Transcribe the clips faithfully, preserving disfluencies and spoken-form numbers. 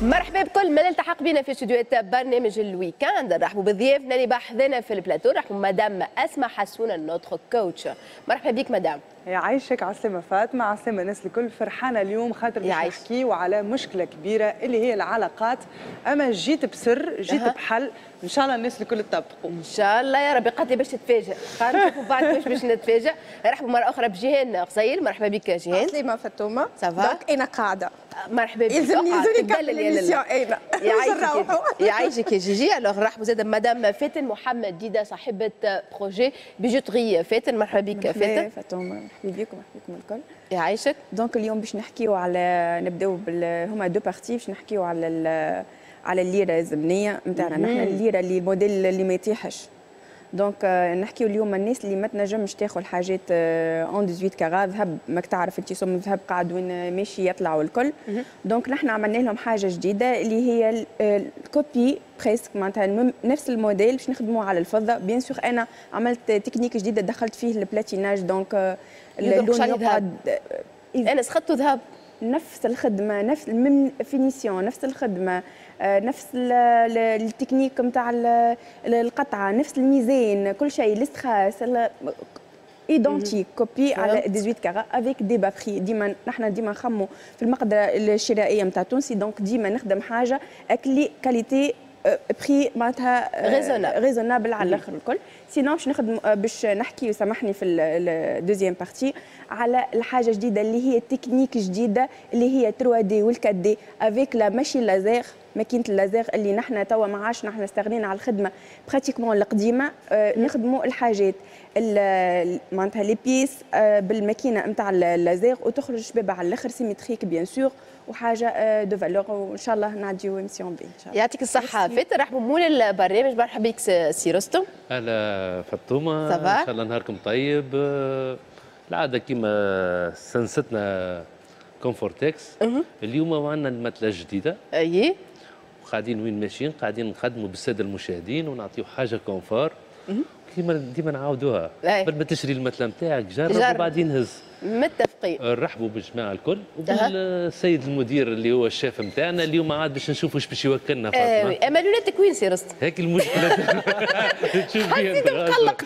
مرحبا بكل من التحق بنا في استديوهات برنامج ال week-end. نرحبوا بضيافنا اللي بحذنا في البلاتو، نرحبوا مدام اسماء حسونه notre coach. مرحبا بك مدام. يعيشك، عسلامة فاطمة، عسلامة الناس الكل. فرحانة اليوم خاطر باش نحكيو على مشكلة كبيرة اللي هي العلاقات. أما جيت بسر، جيت أه. بحل، إن شاء الله الناس الكل تطبقوا إن شاء الله يا ربي. قالت لي باش تتفاجئ، خلينا نشوفوا بعد كيفاش باش نتفاجئ. نرحبوا مرة أخرى بجيهان قصير، مرحبا بك جيهان. عسلامة فاطمة، ça va؟ donc أنا قاعدة. مرحبا بك. يلزمني يلزمني نكمل l'émission أنا. يعيشك يعيشك يا جيجي. alors نرحبوا زاد مدام فاتن محمد ديدا صاحبة projet bijouterie فاتن، مرحبا بك فاتن. فاطمة مرحبا بكم، مرحبا بكم الكل. يعيشك. donc اليوم باش نحكيو على نبداو بال هما deux parties، باش نحكيو على على الليرة الزمنية نتاعنا نحن، الليرة اللي الموديل اللي ما يطيحش. donc نحكيو اليوم الناس اللي ما تنجمش تاخذ حاجات en ثمنطاش carats ذهب، ماك تعرف انت سم الذهب قاعد وين ماشي يطلع والكل. donc نحن عملنا لهم حاجة جديدة اللي هي ال copie presque، معناتها نفس الموديل باش نخدموه على الفضة. bien sûr انا عملت تكنيك جديدة دخلت فيه ال platinage، donc اللون يقعد. انا سخطته ذهب، نفس الخدمة، نفس ال même finition، نفس الخدمة، نفس التكنيك نتاع القطعة، نفس الميزان، كل شيء، les strass identique copie على ثمنطاش carats avec des bas prix. ديما نحن ديما نخمو في المقدرة الشرائية نتاع تونسي، donc ديما نخدم حاجة اكلي qualité prix معناتها raisonnable على الاخر الكل. sinon باش نخدم باش نحكي وسامحني في ال deuxième partie على الحاجة جديدة اللي هي تكنيك جديدة اللي هي ثلاثة D وال quatre D avec la machine laser، ماكينة اللازير اللي نحن توا ما عادش نحن استغنينا على الخدمة pratiquement القديمة. آه نخدموا الحاجات معناتها les pièces آه بالماكينه نتاع اللازير وتخرج شبابه على الاخر symétrique bien sûr وحاجه de valeur، وان شاء الله نعديو émission bien ان شاء الله. يعطيك الصحة فاتن. رحبوا مول البرنامج، مرحبا بك سي رستم. اهلا فاطمة، ان شاء الله نهاركم طيب. العادة كيما سنستنا كومفورتكس، اليوم عندنا ال matelas الجديدة. اي قاعدين وين ماشيين، قاعدين نخدموا بالساده المشاهدين ونعطيو حاجة confort كيما ديما نعاودوها. قبل ما تشري ال matelas نتاعك جرب وبعدين هز. متفقين. نرحبوا بالجماعة الكل وبالسيد المدير اللي هو الشيف نتاعنا اليوم عاد باش نشوفوا ايش باش يوكلنا فاطمة. اما لوناتك وين سي رستم؟ هيك المشكلة. تشوف حسيت مقلق.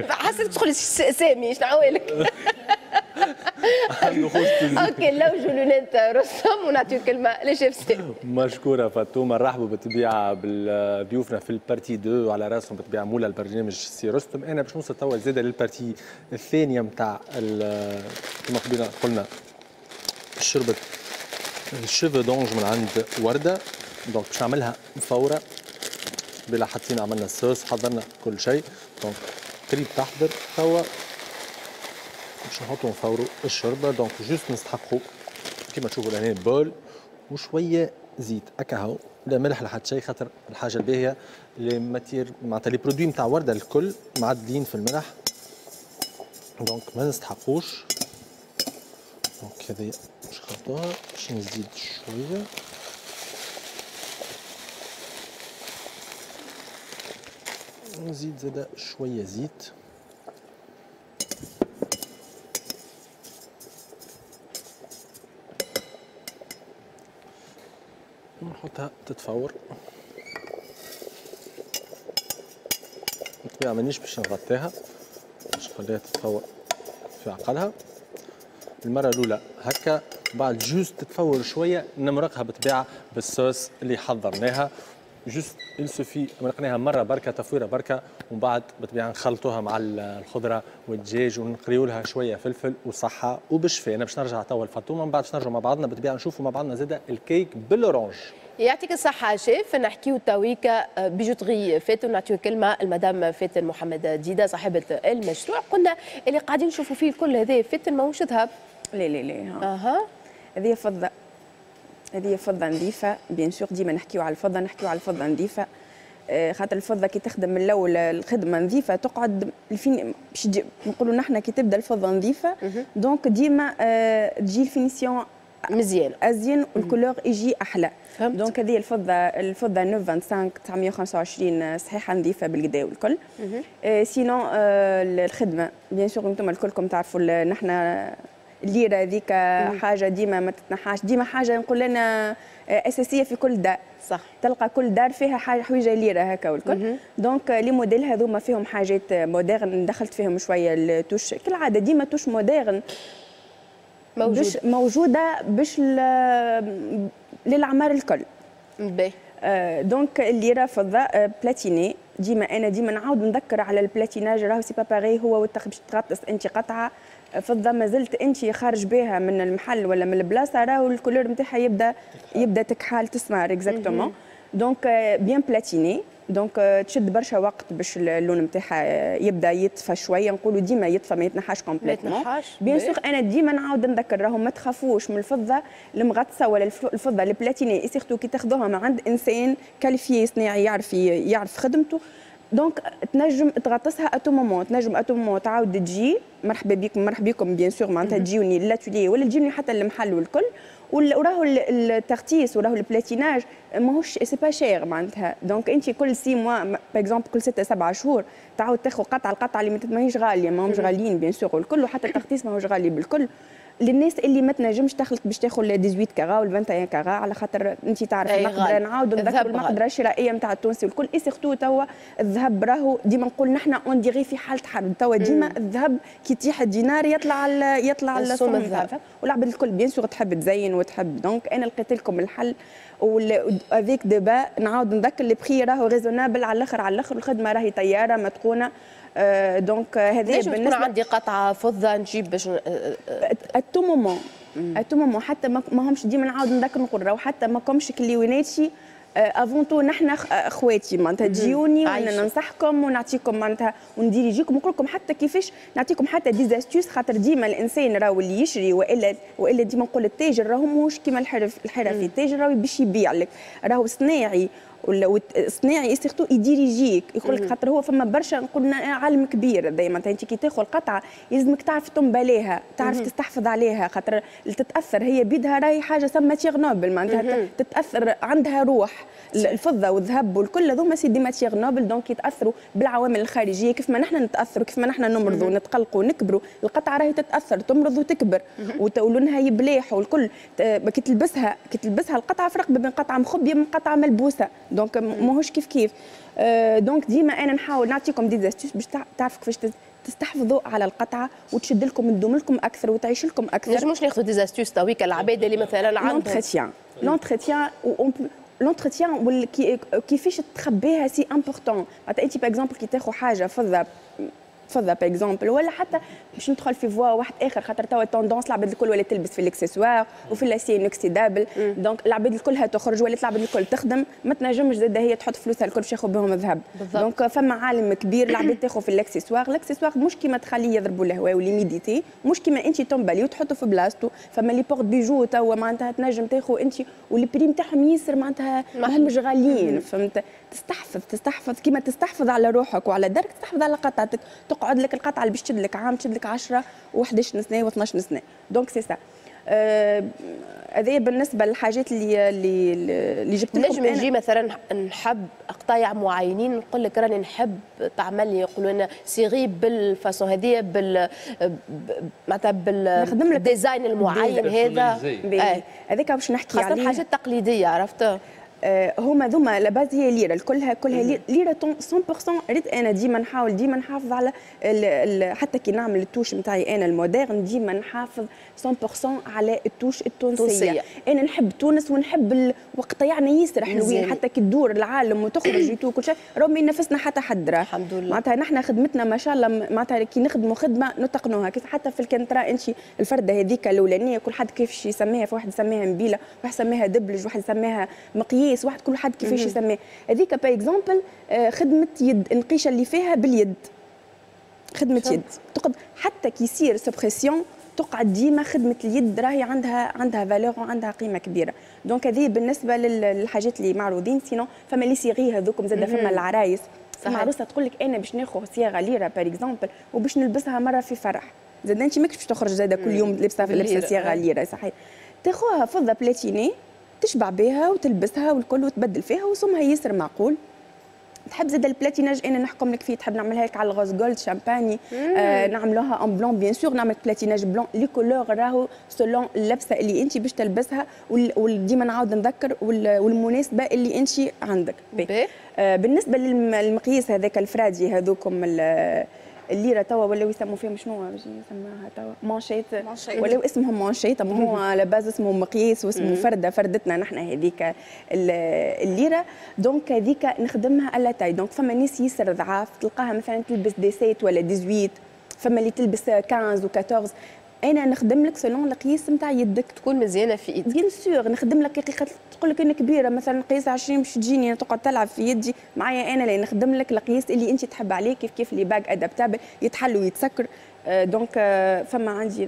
حسيت تدخل سامي شنو عوالك؟ OK لوجوا lunettes رستم ونعطيو الكلمة لشيف سامي. مشكورة فاطمة. نرحبوا بالطبيعة بضيوفنا في ال partie اثنين وعلى راسهم بالطبيعة مولا البرنامج سي رستم. انا باش نوصل توا زاده لل partie الثانية نتاع كما قبيلة قلنا شربة ال cheveux d'ange من عند ورده. donc باش نعملها مفوره بلا حطينا عملنا الصوص حضرنا كل شيء، donc قريب تحضر توا باش نحطو نفورو الشوربة. donc juste نستحقو كيما تشوفوا لهنا bol وشوية زيت هكا هو، لا ملح لا حتى شيء، خاطر الحاجة الباهيه les matières معناتها les produits نتاع ورده الكل معدلين في الملح، donc ما نستحقوش. donc هذه باش نحطوها باش نزيد شوية. نزيد زاده شوية زيت. نحطها تتفور. بالطبيعة مانيش باش نغطيها، باش نخليها تتفور في عقلها. المرة الأولى هكا، بعد juste تتفور شوية نمرقها بالطبيعة بالصوص اللي حضرناها. juste il suffit مرقناها مرة بركة تفويرة بركة، ومن بعد بالطبيعة نخلطوها مع الخضرة والدجاج ونقريو لها شوية فلفل وصحة وبشفاء. أنا باش نرجع توا لفاطمة، من بعد باش نرجعوا مع بعضنا بالطبيعة نشوفوا مع بعضنا زادة الكيك بال orange. يعطيك الصحة شيف. نحكيو تويكا bijouterie فاتن، نعطيو كلمة المدام فاتن محمد ديدا صاحبة المشروع. قلنا اللي قاعدين نشوفوا فيه الكل هذا فاتن ماهوش ذهب. لا لا لا، اها هذه فضة، هذه فضة نظيفة bien sûr. ديما نحكيو على الفضة، نحكيو على الفضة نظيفة، خاطر الفضة كي تخدم من الأول الخدمة نظيفة تقعد ال fin باش نقولوا نحن كي تبدا الفضة نظيفة donc ديما تجي ال finition مزيان ازين وال couleur يجي احلى. donc هذه الفضة، الفضة تسعمية وخمسة وعشرين تسعمية وخمسة وعشرين صحيحه نظيفة بالكدا والكل. sinon الخدمة bien sûr انتم الكلكم تعرفوا نحن الليرة هذيك حاجة ديما ما تتنحاش، ديما حاجة نقول انا اساسية في كل دار. صح، تلقى كل دار فيها حاجة حويجه ليرة هكا والكل. donc les modèles هذوما فيهم حاجات modernes، دخلت فيهم شوية ال touche كالعادة، ديما touche moderne موجود. باش موجودة باش للاعمار الكل. باهي. donc الليرة فضة platinée، ديما انا ديما نعاود نذكر على ال platinage، راهو c'est pas pareil هو باش تغطس انت قطعه فضة ما زلت انت خارج بها من المحل ولا من البلاصة، راهو ال couleur نتاعها يبدا يبدا تكحال تسمر exactement. donc bien platinée، donc تشد برشا وقت باش اللون نتاعها يبدا يطفى شويه، نقولوا ديما يطفى ما يتنحاش complètement. bien sûr انا ديما نعاود نذكر راهو ما تخافوش من الفضة المغطسه ولا الفضة ال platinée، surtout كي تاخذوها من عند انسان qualifié صناعي يعرف يعرف خدمته. donc تنجم تغطسها à tout moment، تنجم à tout moment تعاود تجي، مرحبا بكم مرحبا بكم bien sûr، معناتها تجيوني l'atelier ولا تجيوني حتى المحل والكل. وراهو التغطيس وراهو ال platinage ماهوش c'est pas cher معناتها. donc انت كل six mois par exemple، كل ستة سبعة شهور تعاود تاخذ قطعه، القطعة اللي ماهيش غاليه، ماهمش غاليين bien sûr والكل، وحتى التغطيس ماهوش غالي بالكل. للناس اللي ما تنجمش تخلط باش تاخذ ثمنطاش carats ولا واحد وعشرين carats، على خاطر انت تعرف المقدرة، نعاودوا نذكروا المقدرة الشرائية نتاع التونسي والكل. et surtout توا الذهب راهو ديما نقول نحن on dirait في حاله حرب توا، ديما الذهب كي يطيح الدينار يطلع يطلع السوم الذهب، والعباد الكل bien sûr تحب تزين وتحب. donc انا لقيت لكم الحل avec des bas، نعاود نذكر les prix راهو raisonnables على الاخر على الاخر، الخدمة راهي طيارة متقونه. donc هذه بالنسبة تكون عندي قطعه فضة نجيب باش à tout moment à tout moment، حتى ما همش ديما نعاود نذكر نقول راهو حتى ما كومش كليوناتي avant tout نحن اخواتي، معناتها تجيوني وانا ننصحكم ونعطيكم معناتها ونديريجيكم ونقول لكم حتى كيفاش نعطيكم حتى des astuces، خاطر ديما الانسان راهو اللي يشري والا والا ديما نقول التاجر راهو ماهوش كيما الحرف الحرفي، التاجر راهو باش يبيع لك، راهو صناعي ولا صناعي surtout يديريجيك يقول لك، خاطر هو فما برشا نقول عالم كبير دائما. انت كي تاخذ قطعه يلزمك تعرف تنبليها، تعرف تستحفظ عليها، خاطر تتاثر هي بيدها، راهي حاجة سما matière noble معناتها تتاثر، عندها روح. الفضة والذهب والكل هذوما c'est des matières nobles، donc يتاثروا بالعوامل الخارجية كيف ما نحن نتاثروا، كيف ما نحن نمرضوا ونتقلقوا ونكبروا، القطعة راهي تتاثر تمرض وتكبر ولونها يبلاح والكل. كي تلبسها كي تلبسها القطعة فرق بين قطعه مخبيه من قطعه ملبوسه، donc ماهوش كيف كيف. donc ديما انا نحاول نعطيكم des astuces باش تعرفوا كيفاش تستحفظوا على القطعة وتشد لكم تدوم لكم اكثر وتعيش لكم اكثر. نجموش ناخذوا des astuces تويك العباد اللي مثلا عندهم l'entretien l'entretien l'entretien كيفاش تخبيها c'est important. معناتها انت par exemple كي تاخذ حاجة فضة فضة par exemple، ولا حتى باش ندخل في voie واحد اخر، خاطر توا tendance العباد الكل ولا تلبس في الاكسسوار وفي l'acier inoxydable، donc العباد الكلها تخرج ولا العباد الكل تخدم، ما تنجمش زاد هي تحط فلوسها الكل باش ياخذ بهم الذهب. donc فما عالم كبير العباد تاخذ في ال accessoire، ال accessoire مش كيما تخليه يضربوا الهواء و l'humidité، مش كيما انت تنبلي وتحطه في بلاصتو. فما les porte-bijoux توا معناتها تنجم تاخذ انت و les prix نتاعهم ياسر معناتها ماهمش غاليين، فهمت؟ تستحفظ تستحفظ كيما تستحفظ على روحك وعلى دارك، تستحفظ على قطعتك، تقعد لك القطعة اللي باش تشد لك عام، تشد لك عشرة وحداش سنة وثناش سنه. donc c'est ça هذا بالنسبة للحاجات اللي اللي اللي جبت لكم. نجم نجي مثلا نحب قطايع معينين، نقول لك راني نحب تعمل لي يقولوا لنا série بال façon هذه بال معناتها بال design المعين هذا، هذاك باش نحكي عليه، خاصة حاجات تقليدية عرفت. هما ذوما la base هي ليرة كلها كلها ليرة مية بالمية. ريت انا ديما نحاول ديما نحافظ على ال ال حتى كي نعمل ال touche نتاعي انا ال moderne ديما نحافظ مية بالمية على ال touche التونسية. انا نحب تونس ونحب وقطيعنا ياسر حلوين، حتى كي تدور العالم وتخرج et tout كل شيء راهو ما ينافسنا حتى حد راه الحمد لله. معناتها نحن خدمتنا ما شاء الله، معناتها كي نخدموا خدمة نتقنوها، كيف حتى في الكنترا انت الفرده هذيك الاولانية كل حد كيفاش يسميها، في واحد يسميها مبيله، واحد يسميها دبلج، واحد يسميها مقياس، واحد كل حد كيفاش يسميه. هذيك par exemple خدمة يد، النقيشه اللي فيها باليد، خدمة يد تقعد حتى كي يصير suppression تقعد ديما خدمة اليد راهي عندها عندها valeur وعندها قيمة كبيرة. donc هذه بالنسبة للحاجات اللي معروضين. sinon فما les séries هذوكم زاد، فما العرايس، فما عروسه تقول لك انا باش ناخذ صياغة ليرة par exemple وباش نلبسها مرة في فرح، زاد انت ماكش باش تخرج زاد كل يوم لابسه لابسه صياغة ليرة، صحيح تاخوها فضة platinée تشبع بها وتلبسها والكل وتبدل فيها وسمها ياسر معقول. تحب زاد ال platinage انا نحكم لك فيه، تحب نعملها لك على ال rose gold champagne، آه نعملوها en blanc bien sûr، نعمل platinage blanc. les couleurs راهو selon اللبسه اللي انت باش تلبسها، وديما نعاود نذكر والمناسبة اللي انت عندك. آه بالنسبة للمقياس هذاك الفرادي هذوكم الليرة توا ولاو يسموا فيهم شنو باش يسموها توا manchettes، ولاو اسمهم manchettes، اما هو على base اسمه مقياس واسمه فرده، فردتنا نحن هذيك الليرة. donc هذيك نخدمها à la taille. donc فما ناس ياسر ضعاف تلقاها مثلا تلبس dix-sept ولا dix-huit، فما اللي تلبس خمسطاش و أربعطاش. انا نخدم لك selon القياس نتاع يدك تكون مزيانه في ايدك. bien sûr نخدم لك، تقول لك انا كبيرة مثلا قياس عشرين باش تجيني تقعد تلعب في يدي معايا، انا اللي نخدم لك القياس اللي انت تحب عليه. كيف كيف les bagues adaptables يتحلوا ويتسكر. donc فما عندي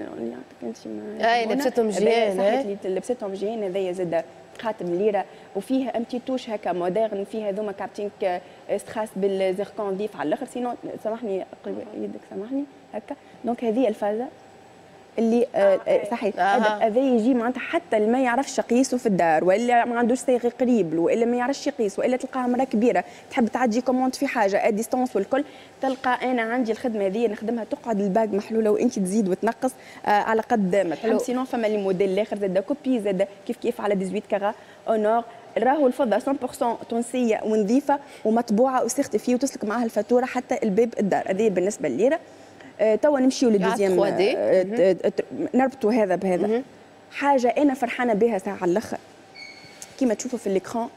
انت اي لبستهم جيان، صحيت اللي لبستهم جيان. هذايا زاد خاتم ليرة وفيه un petit touche هكا moderne، فيه هذوما كابتين strass بال zircon نظيف على الاخر. sinon سامحني يدك سامحني هكا. donc هذه الفازة اللي آه صحيح هذا يجي معناتها حتى اللي ما يعرفش يقيسه في الدار، والا ما عندوش صايغ قريب له، والا ما يعرفش يقيس، والا تلقاها مراة كبيرة تحب تعدي commande في حاجة à distance والكل، تلقى انا عندي الخدمة هذه نخدمها، تقعد ال bague محلولة وانت تزيد وتنقص آه على قد ما تحب. sinon فما les modèles الاخر زاد copie زاد كيف كيف على ثمنطاش carats en or، راهو الفضة مية بالمية تونسية ونظيفه ومطبوعه و certifiée وتسلك معها الفاتورة حتى الباب الدار. هذه بالنسبة لليره. آه، توا نمشيو لل deuxième، آه، نربطوا هذا بهذا. حاجة انا فرحانة بها ساعة على الاخر، كيما تشوفوا في l'écran،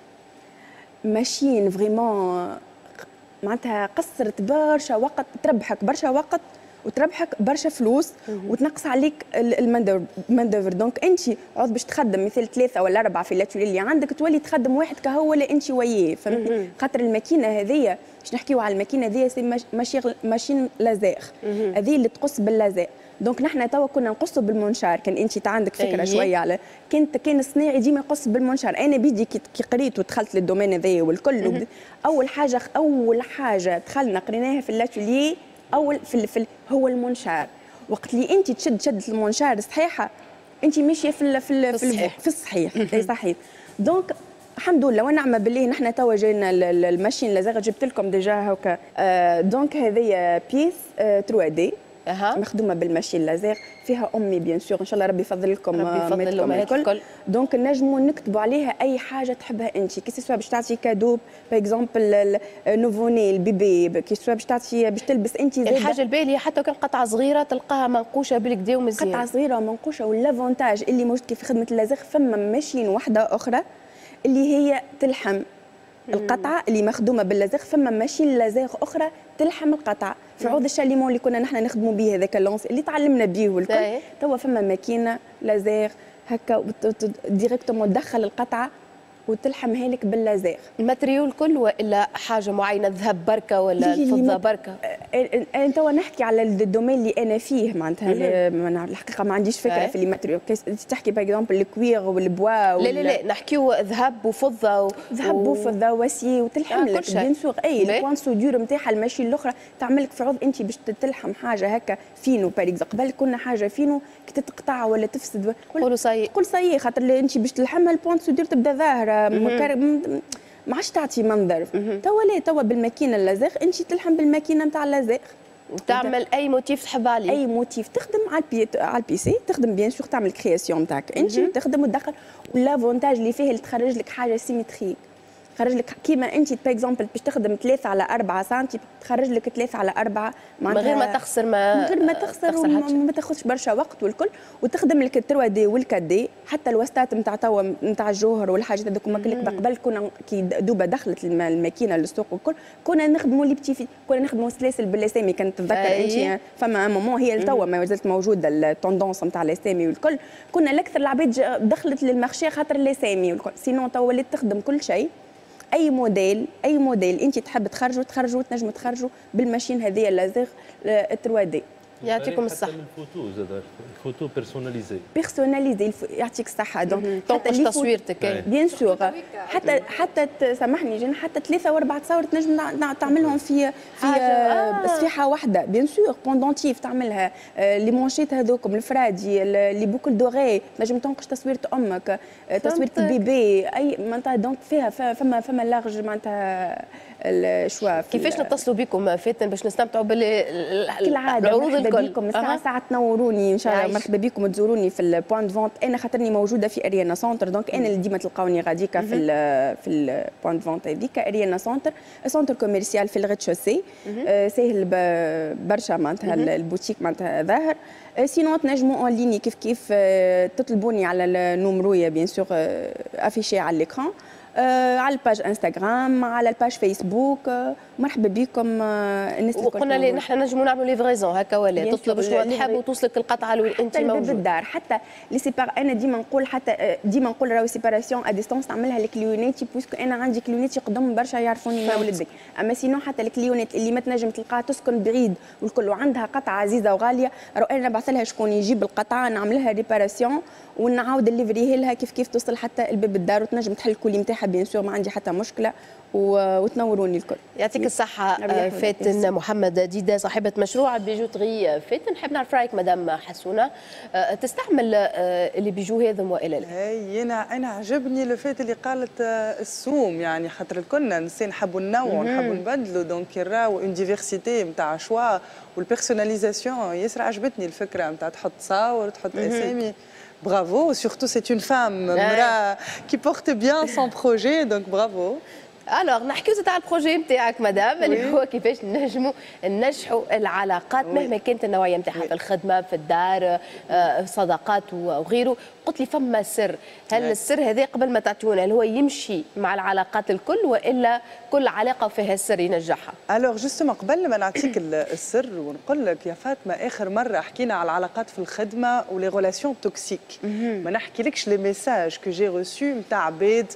machine vraiment معناتها قصرت برشا وقت، تربحك برشا وقت وتربحك برشا فلوس وتنقص عليك ال main d'œuvre. donc انت عوض باش تخدم مثل ثلاثة ولا اربعة في l'atelier اللي عندك، تولي تخدم واحد كهو ولا انت وياه، فهمتني؟ خاطر الماكينة هذيا، باش نحكيو على الماكينة هذيا، c'est machine laser، هذه اللي تقص بال laser. donc نحن توا كنا نقصوا بال منشار، كان انت عندك فكرة شوية على كنت كان الصناعي ديما يقص بالمنشار. انا بيدي كي قريت ودخلت لل domaine هذايا والكل، اول حاجة اول حاجة دخلنا قريناها في l'atelier اول في, في هو المنشار. وقت اللي انت تشد شده المنشار صحيحه، انت ماشية في في في الصحيح، في الصحيح صحيح. donc الحمد لله ونعم بالله، نحن توا جينا ال machine laser، جبت لكم déjà هكا. آه donc هذه pièce ثلاثة D أه. مخدومة بال machine laser، فيها امي bien sûr، ان شاء الله ربي يفضل لكم ربي يفضل الامهات الكل. donc نجموا نكتبوا عليها اي حاجة تحبها انت، que ce soit باش تعطي cadeau par exemple nouveau-né ال bébé، que ce soit باش تعطي باش تلبس انت. الحاجة الباهيه حتى كان قطعه صغيرة تلقاها منقوشه بالكدا ومزيان، قطعه صغيرة ومنقوشه. و l'avantage اللي موجود في خدمة اللازر، فما machine واحدة اخرى اللي هي تلحم القطعة اللي مخدومة باللازر، فما machine laser اخرى تلحم القطعة في عوض ال chalumeau اللي كنا نحن نخدموا به، هذاك l'ancien اللي تعلمنا به والكل. توا فما ماكينة لازير هكا directement تدخل القطعة وتلحمها لك بال laser. ال matériau الكل والا حاجة معينه، ذهب بركة ولا الفضة بركة؟ انا توا نحكي على ال domaine اللي انا فيه، معناتها الحقيقة ما عنديش فكرة في les matériaux. تحكي par exemple ال cuir وال bois؟ لا لا لا، نحكيو ذهب وفضة و... ذهب وفضة و acier وتلحم لك bien sûr. اي ال point soudure نتاعها ال machine الاخرى تعمل لك في عوض انت باش تلحم حاجة هكا فينو par exemple، قبل كنا حاجة فينو كي تتقطع ولا تفسد قولوا ça y est. قول ça y est، خاطر انت باش تلحمها ال point soudure تبدا ظاهره، ما عادش تعطي منظر. توا لا، توا بالماكينه اللازير انت تلحم بالماكينه نتاع اللازير. وتعمل اي motif تحب عليه. اي motif تخدم على ال P على ال PC، تخدم bien sûr، تعمل création نتاعك انت وتخدم وتدخل. و l'avantage اللي فيه اللي تخرج لك حاجة symétrique، تخرج لك كيما انت par exemple باش تخدم ثلاثة على أربعة سنتي، تخرج لك ثلاثة على أربعة. من غير ما تخسر ما من غير ما تخسر، وما تاخذش برشا وقت والكل، وتخدم لك ثلاثة D وال quatre D، حتى الوستات نتاع توا نتاع الجوهر والحاجات هذوك. قبل كنا كي دوبا دخلت الماكينة للسوق والكل، كنا نخدموا les petits، كنا نخدموا سلاسل بالاسامي، كانت تتذكر انت فما moment، هي توا ما زالت موجودة ال tendance نتاع الاسامي والكل. كنا الاكثر العباد دخلت لل marché خاطر الاسامي والكل. sinon توا ولات تخدم كل شيء، اي موديل اي موديل انت تحب تخرجوا تخرجوا تنجم تخرجوا بال machine هذه اللازير ثلاثة D. يعطيكم الصحة. الفوتو زاد ال photo personnalisée. personnalisée، يعطيك الصحة. donc تنقش تصويرتك. bien sûr، حتى حتى سامحني جن، حتى ثلاثة واربعة تصاور تنجم تعملهم في في آه. صفيحة واحدة، bien sûr pendentif تعملها، les manchettes هذوكم الفرادي، les boucles d'oreilles، تنجم تنقش تصويرة امك، تصويرة ال bébé، اي معناتها. donc فيها فما فما large معناتها ال choix. كيفاش نتصلوا بكم فاتن باش نستمتعوا بالعروض الكل؟ مرحبا بكم، الساعة ساعة تنوروني ان شاء الله، مرحبا بكم تزوروني في ال point de vente. انا خاطرني موجودة في اريانا سنتر، donc انا اللي ديما تلقاوني غاديكا في ال في ال point de vente هذيك اريانا سنتر، centre commercial في ال rez-de-chaussée، ساهل برشا معناتها البوتيك معناتها ظاهر. sinon تنجموا en ligne كيف كيف تطلبوني على ال numéro bien sûr affiché على l'écran، على ال page انستغرام، على ال page فيسبوك. مرحبا بكم الناس الكل. وقلنا لي نحن نجموا نعملوا livraison هكا ولا تطلب شنو تحب وتوصلك القطعة وين انت موجود بالدار. حتى les sépar انا ديما نقول، حتى ديما نقول راهو séparation à distance نعملها ل client اتي، puisque انا عندي client اتي قدام برشا يعرفوني من ولدي. اما sinon حتى ال client ات اللي ما تنجم تلقاها تسكن بعيد والكل وعندها قطعه عزيزه وغاليه، راهو انا نبعث لها شكون يجيب القطعه، نعملها réparation ونعاود نليفريها لها كيف كيف توصل حتى الباب الدار وتنجم تحل ال colis نتاعها bien sûr، ما عندي حتى مشكله، وتنوروني الكل. يعطيك الصحة فاتن محمد ديدا صاحبة مشروع bijouterie فاتن. نحب نعرف رأيك مدام حسونة، تستعمل les bijoux هذم وإلا لا؟ هي أنا أنا عجبني le fait اللي قالت السوم، يعني خاطر الكلنا نسي نحبوا ننوعوا نحبوا نبدلوا، donc راهو une diversité نتاع choix وال personnalisation. ياسر عجبتني الفكرة نتاع تحط صور تحط أسامي. Bravo, surtout c'est une femme qui porte bien son projet, donc bravo. alors نحكيو زاد على ال projet نتاعك مدام، اللي هو كيفاش نجموا ننجحوا العلاقات مهما كانت النوعية نتاعها، في الخدمه، في الدار، صداقات وغيره. قلت لي فما سر، هل السر هذا قبل ما تعطيونا هل هو يمشي مع العلاقات الكل والا كل علاقة فيها سر ينجحها؟ alors justement قبل ما نعطيك السر ونقول لك يا فاطمه، اخر مرة حكينا على العلاقات في الخدمة و les relations toxiques، ما نحكيلكش les messages que j'ai reçus نتاع عباد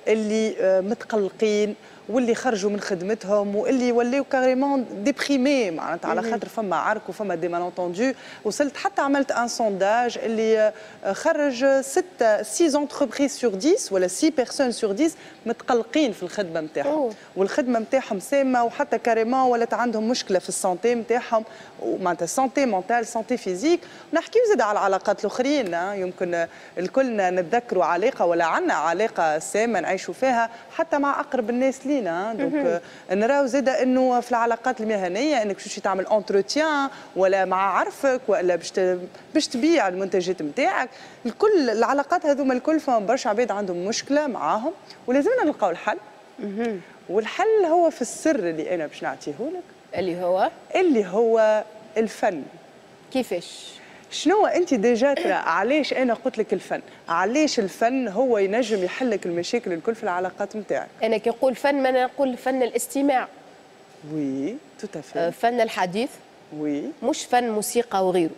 اللي متقلقين واللي خرجوا من خدمتهم واللي ولاو carrément déprimés، معناتها على خاطر فما عرك وفما des malentendus. وصلت حتى عملت un sondage اللي خرج ستة six entreprises sur dix ولا six personnes sur dix متقلقين في الخدمة نتاعهم، والخدمة نتاعهم سامه، وحتى carrément ولات عندهم مشكلة في ال santé نتاعهم، ومعناتها santé mentale، santé physique. نحكيو زاد على العلاقات الاخرين، يمكن الكلنا نتذكروا علاقة ولا عندنا علاقة سامة نعيشوا فيها حتى مع اقرب الناس لينا. donc نراو زاد انه في العلاقات المهنية انك باش تعمل entretien ولا مع عرفك ولا باش باش تبيع المنتجات نتاعك، الكل العلاقات هذوما الكل فما برشا عباد عندهم مشكلة معاهم ولازمنا نلقاو الحل. والحل هو في السر اللي انا باش نعطيه لك، اللي هو اللي هو الفن. كيفاش؟ شنو انت déjà ترى علاش انا قلت لك الفن؟ علاش الفن هو ينجم يحل لك المشاكل الكل في العلاقات نتاعك؟ انا كي نقول فن ما نقول فن الاستماع. oui tout à fait. فن الحديث. oui. مش فن موسيقى وغيره.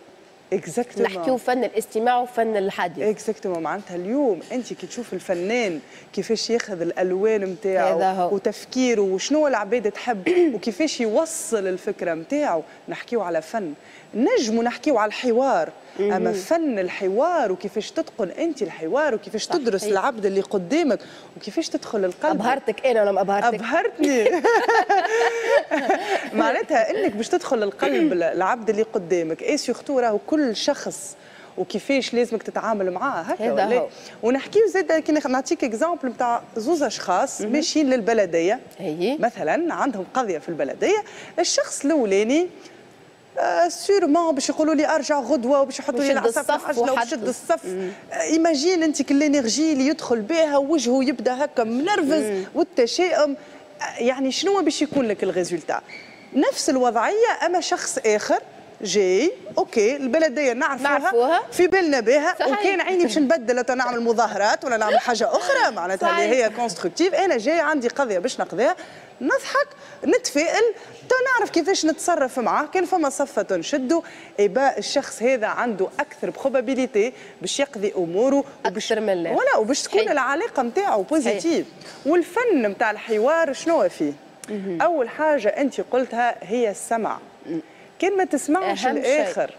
exactement. نحكيو فن الاستماع وفن الحديث. exactement، معناتها اليوم انت كي تشوف الفنان كيفاش ياخذ الالوان نتاعو وتفكيره وشنو العباد تحب وكيفاش يوصل الفكرة نتاعو، نحكيو على فن. نجموا نحكيو على الحوار، اما فن الحوار وكيفاش تتقن انت الحوار وكيفاش تدرس العبد اللي قدامك وكيفاش تدخل القلب. ابهرتك انا ولا ما ابهرتك؟ ابهرتني. معناتها انك باش تدخل القلب العبد اللي قدامك، et surtout راهو كل شخص وكيفاش لازمك تتعامل معاه هكا ولا. ونحكيو زاد كي نعطيك exemple نتاع زوز اشخاص ماشيين للبلديه مثلا، عندهم قضية في البلديه. الشخص الاولاني sûrement باش يقولوا لي ارجع غدوه وباش يحطوا لي العصا في العجلة وباش الصف. imagine انت كل l'énergie اللي يدخل بها وجهه يبدا هكا منرفز والتشاؤم، يعني شنو باش يكون لك ال résultat؟ نفس الوضعية اما شخص اخر جاي، OK البلدية نعرفوها, نعرفوها في بالنا بها، وكان عيني باش نبدل نعمل مظاهرات ولا نعمل حاجة اخرى معناتها اللي هي constructive. انا جاي عندي قضية باش نقضيها، نضحك نتفائل تو نعرف كيفاش نتصرف معاه. كان فما صفة نشدو eh ben الشخص هذا عنده اكثر probabilité باش يقضي اموره اكثر من ولا وباش تكون العلاقة نتاعو positive. والفن نتاع الحوار شنو فيه؟ اول حاجة انت قلتها هي السمع. كان ما تسمعش الاخر،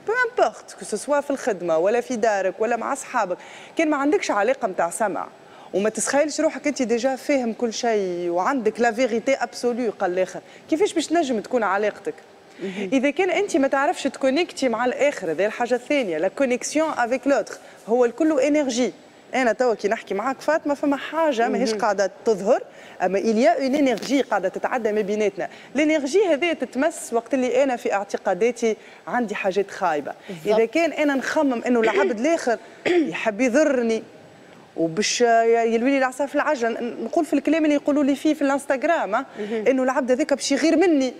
peu importe que ce soit في الخدمة ولا في دارك ولا مع اصحابك، كان ما عندكش علاقة نتاع سمع وما تسخيلش روحك انت déjà فاهم كل شيء وعندك la vérité absolue قال الاخر، كيفاش باش تنجم تكون علاقتك؟ اذا كان انت ما تعرفش تكونيكتي مع الاخر، هذه الحاجة الثانية، la connexion avec l'autre، هو الكل énergie. انا توا كي نحكي معاك فاطمة فما حاجة ماهيش قاعدة تظهر، اما il y a une énergie قاعدة تتعدى ما بيناتنا. l'énergie هذه تتمس وقت اللي انا في اعتقاداتي عندي حاجات خايبة. اذا كان انا نخمم انه العبد الاخر يحب يضرني وباش يلوي لي العصا في العجلة، نقول في الكلام اللي يقولوا لي فيه في الانستغرام، انه العبد هذاك باش يغير مني،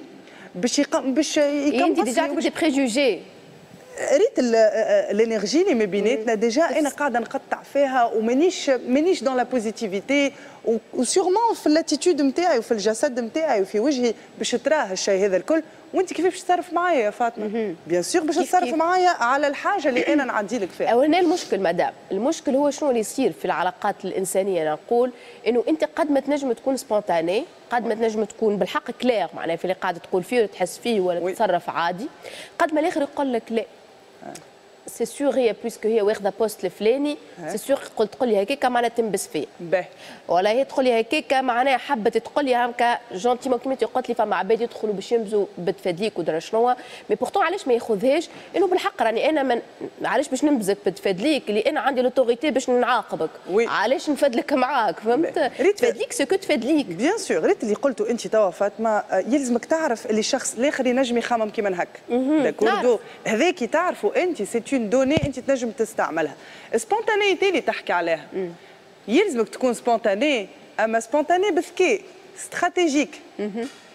باش يقم باش يكمل. انت déjà des préjugés. ريت l'énergie اللي ما بيناتنا déjà انا قاعدة نقطع فيها ومانيش مانيش dans la positivité، و sûrement في l'attitude نتاعي وفي الجسد نتاعي وفي وجهي باش تراه الشيء هذا الكل. وانت كيف باش تتصرف معايا يا فاطمة؟ bien sûr باش تتصرف معايا على الحاجة اللي انا نعدي لك فيها. وهنا المشكل مدام، المشكل هو شنو اللي يصير في العلاقات الانسانيه. نقول انه انت قد ما تنجم تكون spontanée، قد ما تنجم تكون بالحق كلير، معناها في اللي قاعدة تقول فيه وتحس فيه ولا تتصرف عادي، قد ما الاخر يقول لك لا c'est sûr هي puisque هي واخده poste الفلاني، c'est sûr قلت تقول لي هكاك معناها تنبس فيا. باهي. ولا هي تقول لي هكاك معناها حبت تقول لي هكا gentiment كيما انت قلت لي، فما عباد يدخلوا باش ينبزوا بتفادليك ودرا شنو، mais pourtant علاش ما ياخذهاش انه بالحق راني انا من علاش باش ننبزك بتفادليك اللي انا عندي l'autorité باش نعاقبك؟ oui. علاش نفدلك معاك؟ فهمت؟ تفادليك ce que تفادليك. bien sûr. ريت اللي قلته انت توا فاطمه، يلزمك تعرف اللي الشخص الاخر ينجم يخمم كيما هك، d'accord؟ هذاك تعرفوا انت c'est une donnée انت تنجم تستعملها. spontanéité اللي تحكي عليها، يلزمك تكون spontanée، اما spontanée بذكاء stratégique.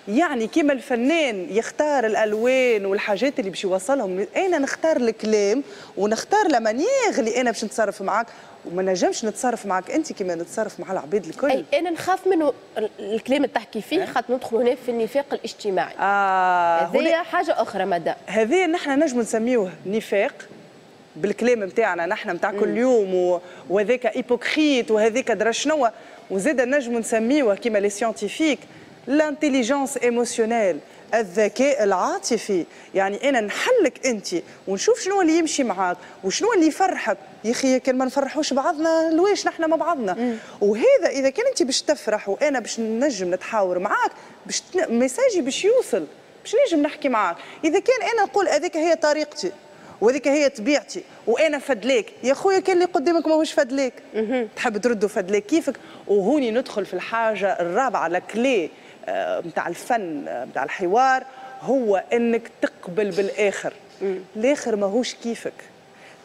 يعني كيما الفنان يختار الالوان والحاجات اللي باش يوصلهم، انا نختار الكلام ونختار la manière اللي انا باش نتصرف معاك، وما نجمش نتصرف معاك انت كيما نتصرف مع العباد الكل. اي انا نخاف منه الكلام اللي تحكي فيه، خاطر ندخل هنا في النفاق الاجتماعي. اه هذه حاجة اخرى مدى. هذه نحن نجم نسميوه نفاق بالكلام نتاعنا نحن نتاع كل يوم، وهذاك hypocrite وهذاك درا شنو، وزاد نجم نسميوه كيما les scientifiques l'intelligence émotionnelle، الذكاء العاطفي. يعني انا نحلك انت ونشوف شنو اللي يمشي معاك وشنو اللي يفرحك. يا اخي كان ما نفرحوش بعضنا لواش نحن مع بعضنا؟ مم. وهذا اذا كان انت باش تفرح وانا باش نجم نتحاور معاك، باش message ي باش يوصل، باش نجم نحكي معاك. اذا كان انا نقول هذيك هي طريقتي وهذيك هي طبيعتي وانا فدليك، يا خويا كان اللي قدامك ماهوش فدليك، تحب تردوا فدليك كيفك. وهوني ندخل في الحاجة الرابعه، la clé نتاع الفن نتاع الحوار، هو انك تقبل بالاخر. الاخر ماهوش كيفك،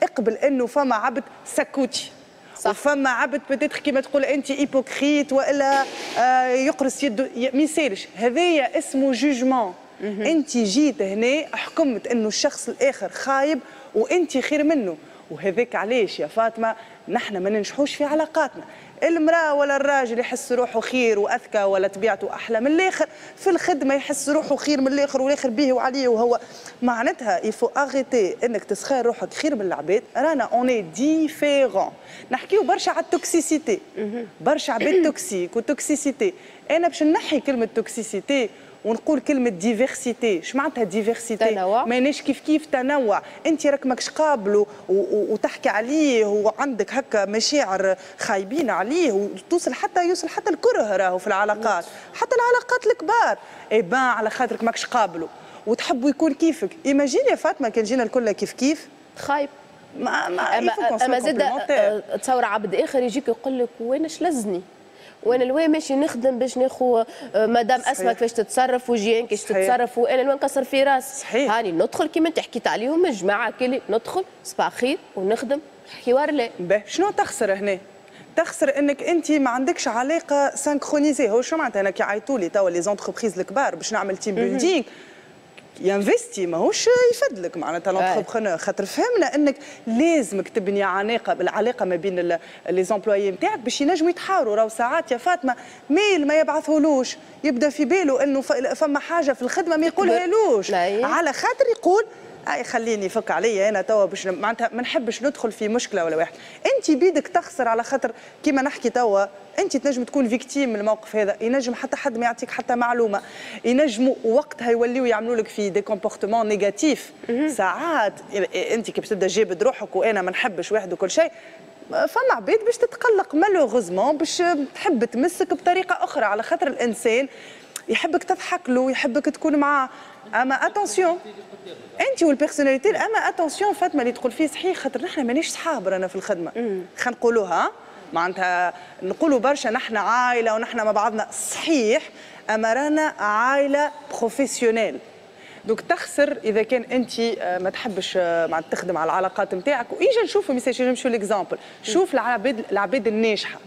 اقبل انه فما عبد سكوتي، صح. وفما عبد peut-être كيما تقول انت hypocrite والا آه يقرص يده، ما يسالش، هذايا اسمه jugement. انت جيت هنا حكمت انه الشخص الاخر خايب وانت خير منه. وهذاك علاش يا فاطمة نحن ما ننجحوش في علاقاتنا. المراة ولا الراجل يحس روحه خير واذكى ولا طبيعته احلى من الاخر، في الخدمة يحس روحه خير من الاخر والاخر به وعليه، وهو معناتها il faut arrêter انك تسخير روحك خير من العباد. رانا on est différents. نحكيو برشا على ال toxicité، برشا عباد toxiques و toxicité. انا باش نحي كلمة toxicité ونقول كلمة diversité. اش معناتها diversité؟ تنوع. ماناش كيف كيف، تنوع. انت راك ماكش قابله وتحكي عليه وعندك هكا مشاعر خايبين عليه وتوصل حتى يوصل حتى الكره راهو في العلاقات، حتى العلاقات الكبار. eh ben على خاطرك ماكش قابله وتحبوا يكون كيفك. imagine يا فاطمة كان جينا الكل كيف كيف. خايب. ما ما اما اما زاد تصور عبد اخر يجيك يقول لك وين اش لزني؟ وانا الوين ماشي نخدم باش ناخذ مدام اسماء كيفاش تتصرف وجيان كيفاش تتصرف، وانا الوين نكسر في راسي. صحيح. هاني ندخل كيما انت حكيت عليهم الجماعة كلي ندخل صباح خير ونخدم حوار. لا باهي، شنو تخسر هنا؟ تخسر انك انت ما عندكش علاقة synchronisée. هو شو معناتها؟ انا كي عيطوا لي توا les entreprises الكبار باش نعمل team building ي investi، ماهوش يفدلك معناتها l'entrepreneur، خاطر فهمنا انك لازمك تبني علاقة العلاقة ما بين les employés نتاعك باش ينجموا يتحاوروا. راهو ساعات يا فاطمة mail ما يبعثهولوش، يبدا في باله انه فما حاجة في الخدمة ما يقولهالوش، على خاطر يقول اي خليني يفك عليا انا توا باش معناتها ما نحبش ندخل في مشكلة ولا واحد. انت بيدك تخسر على خاطر كيما نحكي توا انت تنجم تكون victime من الموقف هذا، ينجم حتى حد ما يعطيك حتى معلومه، ينجموا وقتها يوليو يعملوا لك في des comportements négatifs. ساعات انت كي باش تبدا جابد روحك وانا ما نحبش واحد وكل شيء، فما عباد باش تتقلق malheureusement، باش تحب تمسك بطريقة اخرى، على خاطر الانسان يحبك تضحك له، يحبك تكون معاه. اما attention انت وال personnalité، اما attention فاطمة اللي تقول فيه صحيح، خاطر نحن مانيش صحاب رانا في الخدمة، خلينا نقولوها معناتها نقولوا برشا نحن عائلة ونحن مع بعضنا، صحيح، اما رانا عائلة professionnelle. donc تخسر اذا كان انت ما تحبش معناتها تخدم على العلاقات نتاعك. واجا نشوفوا مثال، نمشوا l'exemple، شوف العباد العباد الناجحة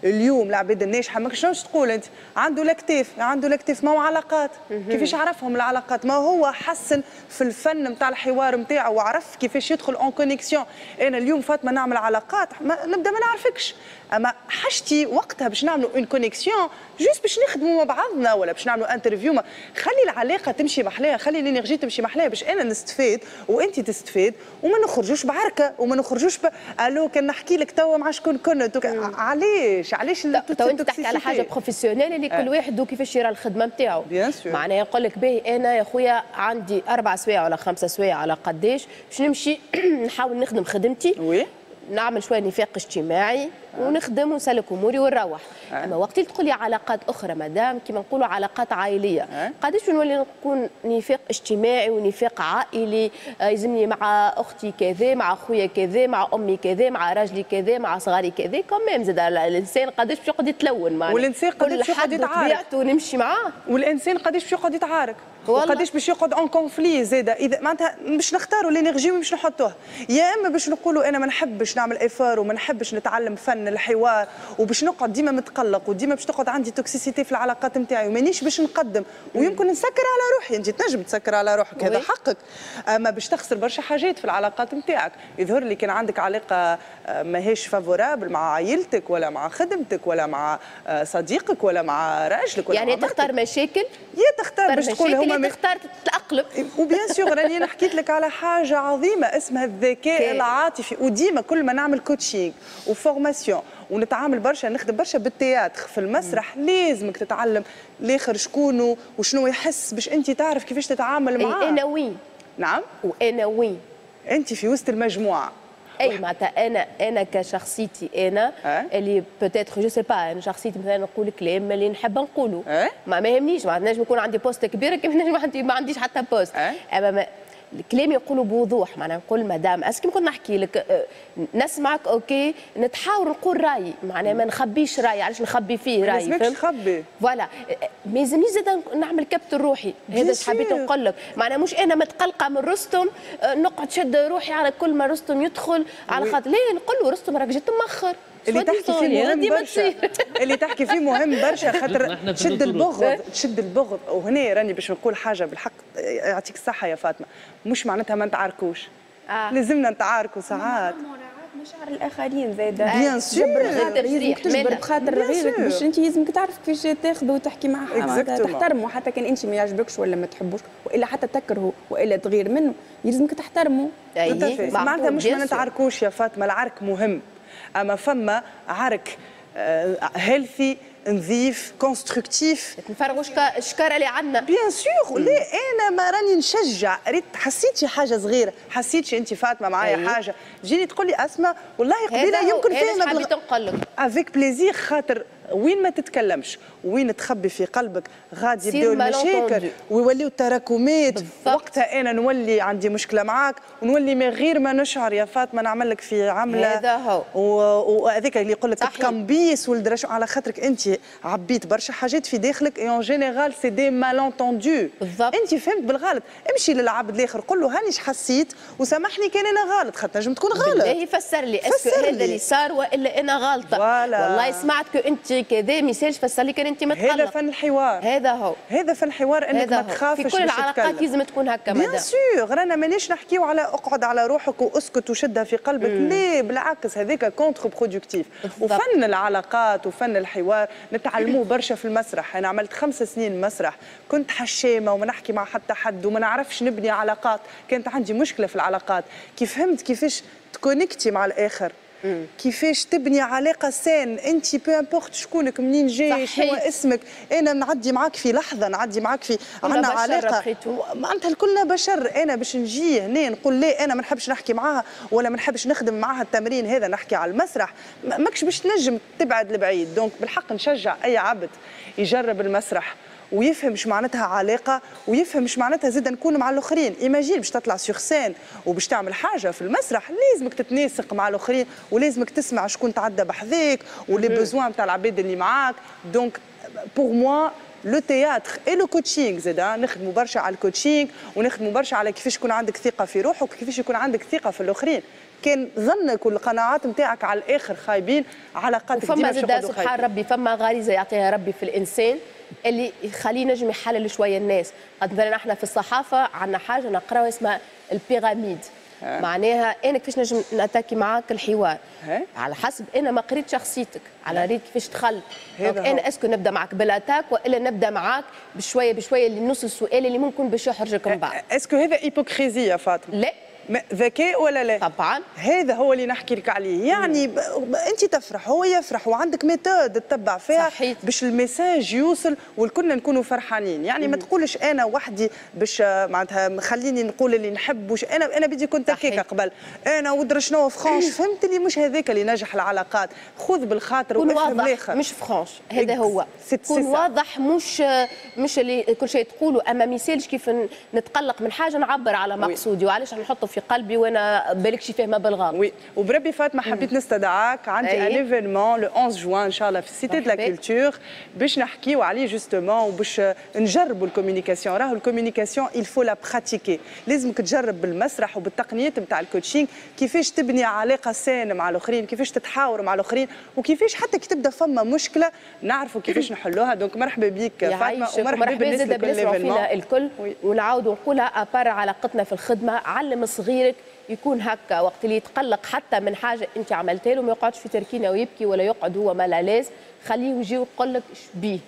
اليوم، العباد الناجحة ما شنو تقول انت؟ عنده الاكتاف، عنده الاكتاف، ما هو علاقات. كيفاش عرفهم العلاقات؟ ما هو حسن في الفن نتاع الحوار نتاعو وعرف كيفاش يدخل en connexion. انا اليوم فاطمة نعمل علاقات، ما نبدا ما نعرفكش، اما حاجتي وقتها باش نعملوا une connexion juste باش نخدموا مع بعضنا ولا باش نعملوا interview. خلي العلاقة تمشي محلاها، خلي l'énergie تمشي محلاها باش انا نستفاد وانت تستفاد وما نخرجوش بعركه وما نخرجوش ب... الو كان نحكي لك توا مع شكون كنت. علاش علاش؟ تو انت تحكي على حاجة professionnelle اللي كل واحد وكيفاش يرى الخدمة نتاعو. معناها يقول لك باهي انا يا خويا عندي اربع سوايع ولا خمسة سوايع على قداش باش نمشي نحاول نخدم خدمتي، oui، نعمل شوية نفاق اجتماعي ونخدم ونسلك اموري ونروح. آه. اما وقت اللي تقولي علاقات اخرى مدام، كيما نقولوا علاقات عائلية، آه. قداش نولي نكون نفاق اجتماعي ونفاق عائلي، آه يلزمني مع اختي كذا، مع خويا كذا، مع امي كذا، مع راجلي كذا، مع صغاري كذا. quand même زاد الانسان قداش باش يقعد يتلون معنا، والانسان قداش باش يقعد يتعارك ونمشي معاه، والانسان قداش باش يقعد يتعارك وقداش باش يقعد en conflit زاده. اذا معناتها باش نختاروا l'énergie باش نحطوها، يا اما باش نقولوا انا ما نحبش نعمل effort وما نحبش نتعلم فن الحوار وباش نقعد ديما متقلق وديما باش تقعد عندي toxicité في العلاقات نتاعي ومانيش باش نقدم ويمكن نسكر على روحي. انت تنجم تسكر على روحك، هذا حقك، اما باش تخسر برشا حاجات في العلاقات نتاعك. يظهر لي كان عندك علاقة ماهيش favorable مع عائلتك ولا مع خدمتك ولا مع صديقك ولا مع راجلك ولا يعني تختار مشاكل، يا تختار باش تقول هما تختار تتأقلم. و bien sûr راني انا حكيت لك على حاجة عظيمة اسمها الذكاء العاطفي. وديما كل ما نعمل coaching و formation ونتعامل برشا، نخدم برشا بال théâtre في المسرح، لازمك تتعلم الاخر شكونه وشنو يحس باش انت تعرف كيفاش تتعامل معاه. انا وين؟ نعم، وانا وين؟ انت في وسط المجموعة. اي معناتها انا انا كشخصيتي انا أه؟ اللي peut-être je sais pas، انا شخصيتي مثلا نقول كلام اللي نحب نقوله، أه؟ ما ما يهمنيش، معناتها نجم يكون عندي poste كبير كيف نجم عندي ما عنديش حتى poste، أه؟ اما الكلام يقولوا بوضوح. معناها نقول مدام est-ce que كنت نحكي لك نسمعك OK، نتحاور نقول رايي، معناها ما نخبيش رايي. علاش نخبي فيه رايي؟ ما تخبي voilà، ما يلزمنيش زاد نعمل كبت الروحي. هذا حبيت نقول لك، معناها مش انا متقلقه من رستم نقعد شد روحي على كل ما رستم يدخل على خاطر ليه نقول له رستم راك جيت مأخر. اللي تحكي فيه مهم برشا، اللي تحكي فيه مهم برشا، خاطر تشد البغض، تشد البغض. وهنا راني باش نقول حاجة بالحق، يعطيك الصحة يا فاطمة، مش معناتها ما نتعاركوش، آه. لازمنا نتعاركوا ساعات. مشاعر الاخرين زاده bien sûr، لازمك تجبر بخاطر غيرك باش انت لازمك تعرف كيفاش تاخذه وتحكي معاه، تحترمه حتى كان انت ما يعجبكش ولا ما تحبوش والا حتى تكرهه والا تغير منه، يلزمك تحترمه. معناتها مش ما نتعاركوش يا فاطمة، العرك مهم، اما فما عرك healthy نظيف constructif، نفرغوا الشكاره اللي عندنا. bien sûr. لا انا ما راني نشجع، ريت حسيت شي حاجة صغيرة، حسيت شي انت فاطمة معايا أيه. حاجة تجيني تقول لي اسماء والله قبيلة يمكن فيها حبيت نقول لك avec plaisir، خاطر وين ما تتكلمش وين تخبي في قلبك غادي يبداو المشاكل ويوليو التراكمات. وقتها انا نولي عندي مشكلة معاك ونولي من غير ما نشعر يا فاطمة نعمل لك في عمله هذا هو، وهذاك اللي يقول لك تكمبيس والدرش على خاطرك انت عبيت برشا حاجات في داخلك. et en général c'est des malentendus، انت فهمت بالغلط. امشي للعبد الاخر قول له هانيش حسيت وسامحني كان انا غلط، خاطر نجم تكون غلط. بالله فسر لي est-ce que هذا اللي صار والا انا غلطه. والله سمعت que انت كذا، ما يسالش فسر لي كان انت متقلق. هذا فن الحوار، هذا هو، هذا فن الحوار، انك ما تخافش في كل العلاقات لازم تكون هكا. bien sûr، رانا مانيش نحكيو على اقعد على روحك واسكت وشدها في قلبك، لا بالعكس هذاك contre-productif. وفن العلاقات وفن الحوار نتعلموه برشا في المسرح. انا عملت خمس سنين مسرح، كنت حشامه وما نحكي مع حتى حد وما نعرفش نبني علاقات، كانت عندي مشكلة في العلاقات. كيف فهمت كيفاش تكونكتي مع الاخر، كيفاش تبني علاقة saine، انت peu importe شكونك، منين جاي، شنو اسمك، انا نعدي معاك في لحظة، نعدي معاك في عندنا علاقة، معناتها الكلنا بشر. انا باش نجي هنا نقول لا انا ما نحبش نحكي معاها ولا ما نحبش نخدم معاها التمرين هذا، نحكي على المسرح، ماكش باش تنجم تبعد لبعيد. donc بالحق نشجع اي عبد يجرب المسرح ويفهم اش معناتها علاقة، ويفهم اش معناتها زاد نكون مع الاخرين. imagine باش تطلع sur scène وباش تعمل حاجة في المسرح لازمك تتناسق مع الاخرين، ولازمك تسمع شكون تعدى بحذاك و les besoins نتاع العباد اللي معاك. donc pour moi le théâtre et le coaching زاد نخدموا برشا على ال coaching، ونخدموا برشا على كيفاش يكون عندك ثقة في روحك وكيفاش يكون عندك ثقة في الاخرين. كان ظنك والقناعات نتاعك على الاخر خايبين، علاقاتك ديما فما سبحان ربي فما غريزة يعطيها ربي في الانسان اللي يخليه نجم يحلل شوية الناس. قد مثلا احنا في الصحافة عندنا حاجة نقراها اسمها ال pyramide، معناها انا كيفاش نجم نتاكي معاك الحوار ها؟ على حسب انا ما قريت شخصيتك، على ريت كيفاش دخلت. انا est-ce que نبدا معاك بال attaque والا نبدا معاك بشوية بشوية اللي نوصل السؤال اللي ممكن باش يحرجك من بعد. est-ce que هذا hypocrisie يا فاطمة؟ لا. ذكاء ولا لا؟ طبعا هذا هو اللي نحكي لك عليه. يعني ب... انت تفرح هو يفرح، وعندك méthode تتبع فيها باش ال message يوصل والكلنا نكونوا فرحانين. يعني مم. ما تقولش انا وحدي باش معناتها خليني نقول اللي نحب وش انا انا بدي كنت هكاك قبل انا ودر شنو franche، فهمت اللي مش هذاك اللي نجح العلاقات. خذ بالخاطر وافهم الاخر، مش franche هذا هو، كون واضح، مش مش اللي كل شيء تقوله، اما ما يسالش كيف نتقلق من حاجة نعبر على مقصودي، وعلاش نحطه في قلبي وانا بالك شي فاهمه بالغلط. oui وبربي فاطمة حبيت نستدعاك، عندي un événement le أحد عشر جوان ان شاء الله في Cité de la Culture باش نحكيو عليه justement، وباش نجربوا ال communication. راهو ال communication il faut la pratiquer، لازمك تجرب بالمسرح وبالتقنيات نتاع ال coaching كيفاش تبني علاقة saine مع الاخرين، كيفاش تتحاور مع الاخرين، وكيفاش حتى كي تبدا فما مشكلة نعرفوا كيفاش نحلوها. donc مرحبا بك فاطمة، ومرحبا بالناس الكل الكل. ونعاودوا نقولها à part علاقتنا في الخدمة، علم صغيرك يكون هكا وقت اللي يتقلق حتى من حاجة انت عملتها له ما يقعدش في تركينه ويبكي ولا يقعد هو mal à l'aise، خليه يجي ويقول لك شبيه،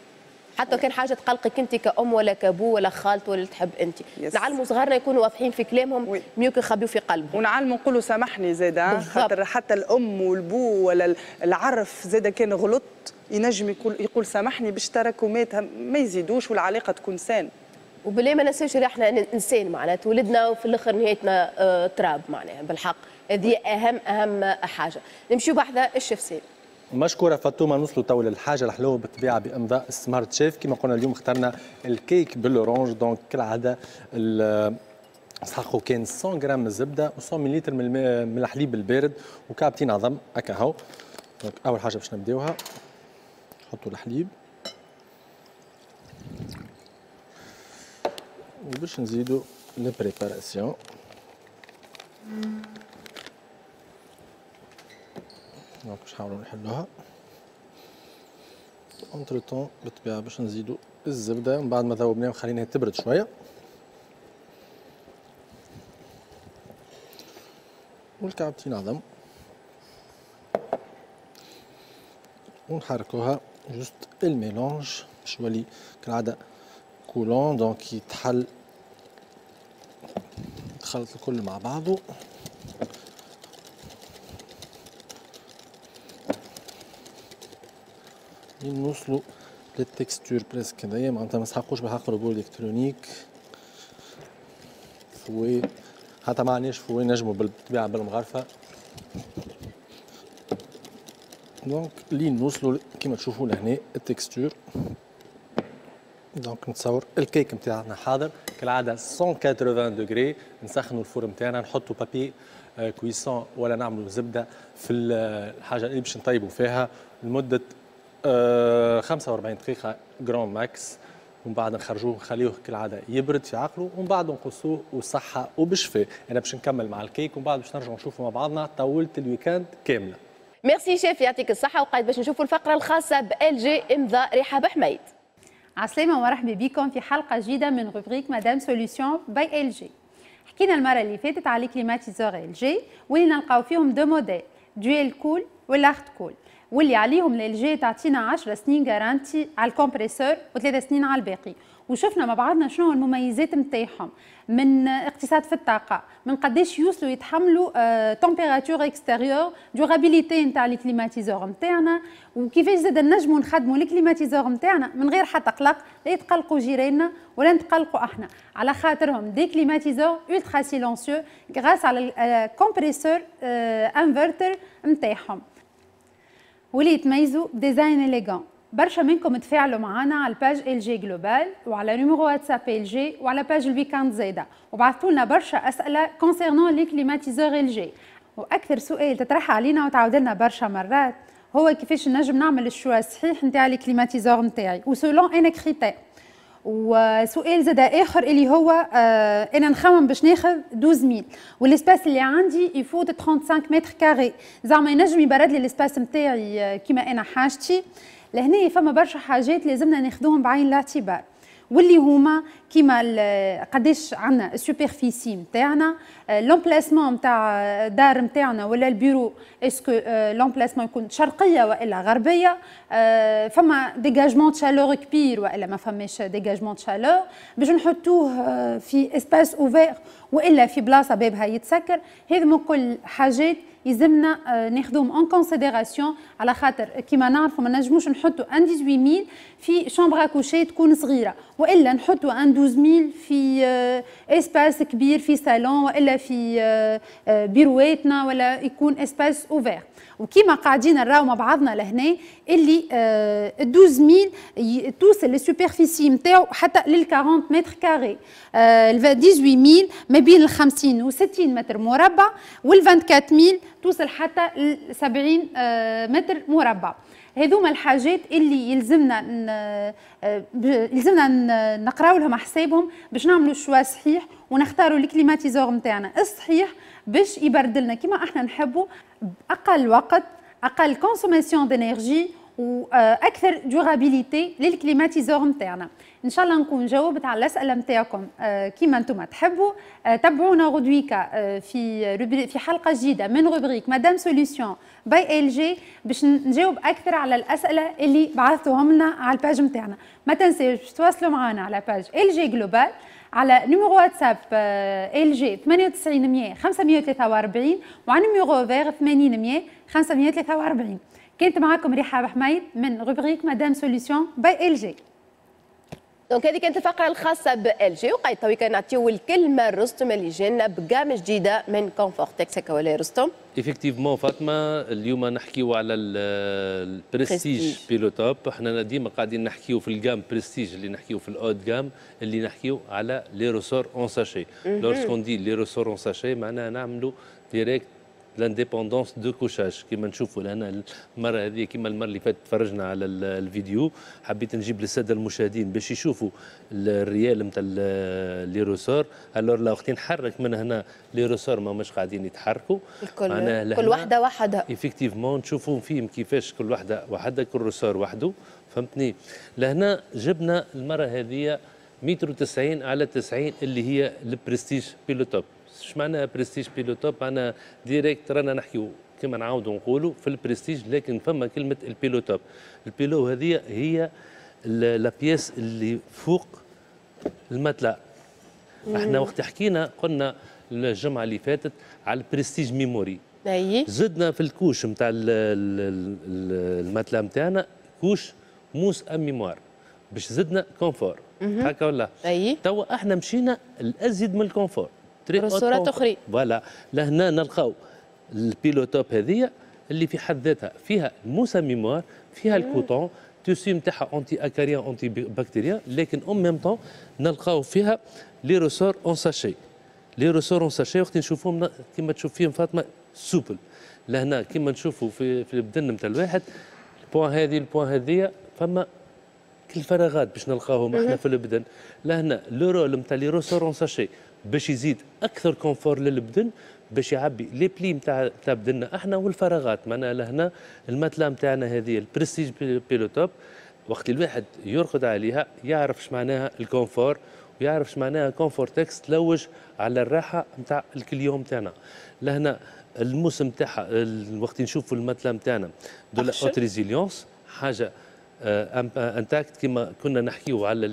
حتى كان حاجة تقلقك انت كأم ولا كابو ولا خالته ولا تحب انت. نعلموا صغارنا يكونوا واضحين في كلامهم، mieux que يخبيوا في قلبهم. ونعلموا نقولوا سامحني زاده، خاطر حتى الام والبو ولا العرف زاده كان غلط ينجم يقول يقول سامحني باش تراكمات ما يزيدوش والعلاقة تكون saine. وبالله ما ننساوش اللي احنا انسان معناها تولدنا وفي الاخر نهايتنا اه تراب معناها بالحق، هذه اهم اهم حاجة. نمشيو بحذا الشيف سيد. مشكورة فاطمة. نوصلوا تو للحاجة الحلوة بالطبيعة بامضاء Smart Chef. كما قلنا اليوم اخترنا الكيك بال orange. donc كالعادة نسحقوا كان مية غرام من الزبدة و مية مليلتر من الحليب البارد وكعبتين عظم هكا هو. donc اول حاجة باش نبداوها نحطوا الحليب وباش نزيدو les préparations. donc باش نحاولو نحلوها entre-temps بالطبيعة باش نزيدو الزبدة من بعد ما ذوبناها وخليناها تبرد شوية، والكعبتين عظم ونحركوها juste ال mélange باش يولي كالعادة coulant. donc يتحل يتخلط الكل مع بعضه. نوصلوا لل texture presque هذايا، معناتها ما نسحقوش بالحق robot électronique fouet، حتى ما عندناش fouet نجموا بالطبيعة بالمغرفه. donc لين نوصلوا كيما تشوفوا لهنا ال texture. donc نتصور الكيك نتاعنا حاضر كالعادة مية وثمانين degrés. نسخنوا ال four نتاعنا، نحطوا papier cuisson ولا نعملوا زبدة في الحاجة اللي باش نطيبوا فيها لمدة خمسة وأربعين دقيقة grand max، ومن بعد نخرجوه نخليوه كالعادة يبرد في عقله، ومن بعد نقصوه وصحة وبشفاء. انا باش نكمل مع الكيك ومن بعد باش نرجعوا نشوفوا مع بعضنا طاولة ال week-end كاملة. merci chef، يعطيك الصحة. وقاعد باش نشوفوا الفقرة الخاصة ب LG امضاء رحاب حميد. عسلامة ومرحبا بكم في حلقة جديدة من rubrique Madame Solution by LG. حكينا المرة اللي فاتت على climatiseurs LG واللي نلقاو فيهم deux modèles، Dual Cool وال Art Cool، واللي عليهم LG تعطينا عشر سنين garantie على ال compresseur وثلاث سنين على الباقي. وشفنا مع بعضنا شنو المميزات نتاعهم، من اقتصاد في الطاقة، من قداش يوصلوا يتحملوا température extérieure، durabilité نتاع les climatiseurs نتاعنا، وكيفاش زاد نجموا نخدموا les climatiseurs نتاعنا من غير حتى قلق، لا يتقلقوا جيراننا ولا نتقلقوا احنا، على خاطرهم des climatiseurs ultra silencieux grâce على ال compresseur inverter نتاعهم، واللي يتميزوا design élégant. برشا منكم تفاعلوا معنا على ال page LG Global وعلى numéro واتساب LG وعلى page ال week-end زاده، وبعثوا لنا برشا اسئلة concernant les climatiseurs LG. واكثر سؤال تطرح علينا وتعاود لنا برشا مرات هو كيفاش نجم نعمل ال choix الصحيح نتاع les climatiseurs نتاعي و selon انا critère. وسؤال زاد اخر اللي هو آه انا نخمم باش ناخذ اثنا عشر ألف وال espace اللي عندي يفوت خمسة وثلاثين mètres carrés، زعما ينجم يبرد لي ال espace نتاعي كيما انا حاجتي؟ لهنا فما برشا حاجات لازمنا ناخذوهم بعين الاعتبار، واللي هما كيما قداش عندنا ال superficie نتاعنا، l'emplacement نتاع دار نتاعنا ولا ال bureau، est-ce que l'emplacement يكون شرقية والا غربيه، فما dégagement chaleur كبير والا ما فماش dégagement chaleur، باش نحطوه في espace ouvert والا في بلاصة بابها يتسكر. هذو كل حاجات يلزمنا ناخذوهم en considération، على خاطر كيما نعرفوا ما نجموش نحطوا un ثمنطاش ألف في chambre à coucher تكون صغيره، والا نحطوا un اثنا عشر ألف في espace كبير في صالون والا في بيرواتنا ولا يكون espace ouvert. وكيما قاعدين نراو مع بعضنا لهنا اللي اثنا عشر ألف توصل لل superficie نتاعو حتى لل أربعين mètres carrés، ال ثمنطاش ألف ما بين ال خمسين و ستين متر مربع، وال أربعة وعشرين ألف توصل حتى ل سبعين متر مربع. هذوما الحاجات اللي يلزمنا يلزمنا نقراو لهم حسابهم باش نعملوا choix صحيح ونختاروا ال climatiseur نتاعنا الصحيح باش يبرد لنا كما احنا نحبوا باقل وقت، اقل consommation d'énergie واكثر durabilité لل climatiseur نتاعنا. ان شاء الله نكون جاوبت على الاسئلة نتاعكم كيما انتم تحبوا. تابعونا غدويكا في في حلقة جديدة من rubrique Madame Solution by LG باش نجاوب اكثر على الاسئلة اللي بعثتوهم لنا على ال page نتاعنا. ما تنساوش باش تواصلوا معنا على page LG Global، على numéro واتساب LG ثمانية وتسعين مية خمسمية وثلاثة وأربعين، وعلى numéro vert ثمانين مية خمسمية وثلاثة وأربعين. كانت معكم رحاب حميد من rubrique Madame Solution by LG. donc هذه كانت الفقرة الخاصة ب LG، وقيت تويكا نعطيو الكلمة لرستم اللي جانا ب gamme جديدة من Confortex. هكا ولا رستم؟ effectivement فاطمه، اليوم نحكيو على ال Prestige Pillow Top. احنا ديما قاعدين نحكيو في ال gamme Prestige، اللي نحكيو في ال haut de gamme، اللي نحكيو على les ressorts en sachet. lorsqu'on dit les ressorts en sachet معناها نعملوا direct l'indépendance de couchage. كما نشوفوا لهنا المرة هذه، كما المرة اللي فاتت تفرجنا على الفيديو، حبيت نجيب للسادة المشاهدين باش يشوفوا ال réel نتاع les ressorts. alors là وقت نحرك من هنا les ressorts ما مش قاعدين يتحركوا. الكل كل واحدة وحدها. effectivement نشوفوا فيهم كيفاش كل واحدة وحدها، كل ressort وحده، فهمتني؟ لهنا جبنا المرة هذه متر وتسعين على تسعين اللي هي ال Prestige Pillow Top. ايش معناها Prestige Pillow Top؟ معناها direct رانا نحكيو كما نعاودوا نقولوا في البرستيج، لكن فما كلمة ال pillow top. ال pillow هذه هي la pièce اللي فوق ال matelas. احنا وقت حكينا قلنا الجمعة اللي فاتت على ال Prestige Memory، اي زدنا في ال couche نتاع ال matelas نتاعنا couche mousse à mémoire باش زدنا confort، هكا ولا؟ اي. توا احنا مشينا الازيد من ال confort. ressorts اخرين. voilà، لهنا نلقاو ال pillow top هذه اللي في حد ذاتها فيها ال mousse à mémoire، فيها ال coton tissu نتاعها anti-acarien antibactérien، لكن en même temps نلقاو فيها les ressorts en sachet. les ressorts en sachet وقت نشوفوهم كيما تشوف فيهم فاطمة souples. لهنا كيما نشوفوا في في البدن نتاع الواحد، ال point هذه ال point هذه فما كل فراغات باش نلقاوهم احنا في البدن. لهنا le rôle نتاع les ressorts en sachet باش يزيد اكثر confort للبدن، باش يعبي les plis نتاع نتاع بدنا احنا والفراغات. معناها لهنا ال matelas نتاعنا هذه ال Prestige Pillow Top وقت الواحد يرقد عليها يعرف اش معناها ال confort ويعرف اش معناها Confortex تلوج على الراحة نتاع ال client نتاعنا. لهنا الموسم نتاعها وقت نشوفوا ال matelas نتاعنا de la haute résilience، حاجة intacte كما كنا نحكيو على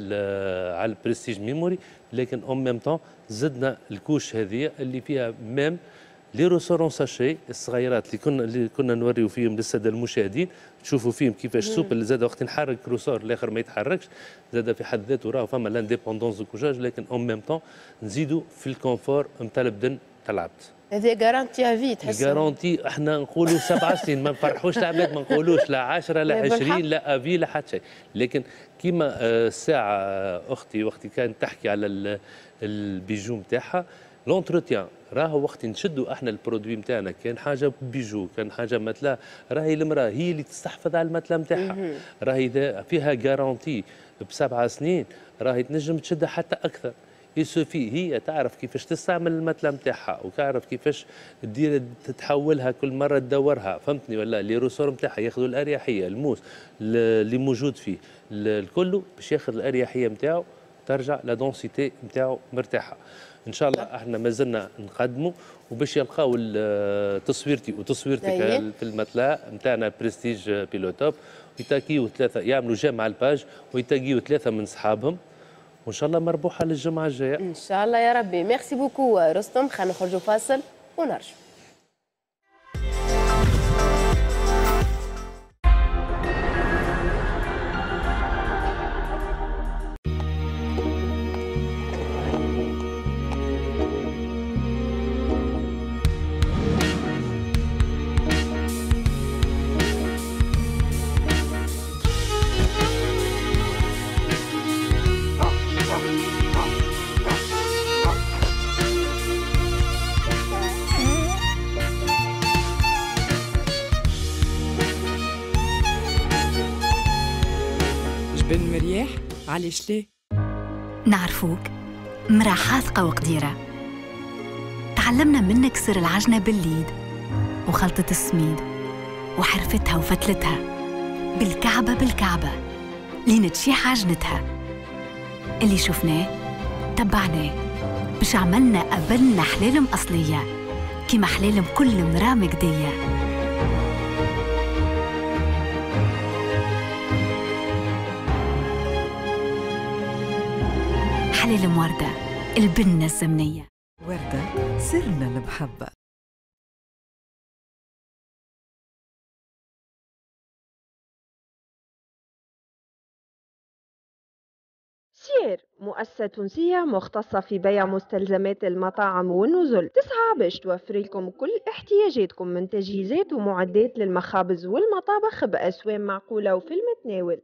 على ال Prestige Memory، لكن en même temps زدنا ال couche هذه اللي فيها même les ressorts en sachet الصغيرات اللي كنا اللي كنا نوريو فيهم للسادة المشاهدين، تشوفوا فيهم كيفاش souple، زاد وقت نحرك ressort الاخر ما يتحركش، زاد في حد ذاته راه فما l'indépendance de couchage، لكن en même temps نزيدوا في ال confort نتاع البدن تاع العبد. هذه garantie à vie تحس garantie، احنا نقولوا سبع سنين، ما نفرحوش العباد، ما نقولوش لا عشرة لا عشرين لا à vie لا حتى شيء، لكن كيما الساعة اختي وقت كانت تحكي على ال bijou نتاعها l'entretien، راهو وقت نشدوا احنا ال produit نتاعنا، كان حاجة bijou كان حاجة matelas، راهي المراة هي اللي تستحفظ على ال matelas نتاعها، راهي اذا فيها garantie بسبع سنين راهي تنجم تشدها حتى اكثر. il suffit هي تعرف كيفاش تستعمل ال matelas نتاعها وتعرف كيفاش تدير تتحولها كل مرة تدورها، فهمتني ولا؟ les ressorts نتاعها ياخذوا الاريحيه، الموس اللي موجود فيه الكل باش ياخذ الاريحيه نتاعو، ترجع la densité نتاعو مرتاحة. ان شاء الله احنا مازلنا نقدموا وباش يلقاو تصويرتي وتصويرتك في ال matelas نتاعنا Prestige Pillow Top، ويتاكيو ثلاثة، يعملوا j'aime على ال page ويتاكيو ثلاثة من صحابهم، وان شاء الله مربوحه للجمعة الجاية ان شاء الله يا ربي. merci beaucoup رستم، خلينا نخرجوا فاصل ونرجع. علاش ليه؟ نعرفوك مرا حاذقة وقديرة، تعلمنا منك سر العجنة بالليد وخلطة السميد وحرفتها وفتلتها بالكعبة بالكعبة لين تشيح عجنتها. اللي شفناه تبعناه باش عملنا قبلنا حلالم أصلية كيما حلالم كل مرا مجدية. حلالم وردة، البنة الزمنية. وردة سرنا المحبة. سير مؤسسة تونسية مختصة في بيع مستلزمات المطاعم والنزل، تسعى باش توفر لكم كل احتياجاتكم من تجهيزات ومعدات للمخابز والمطابخ بأسوام معقولة وفي المتناول.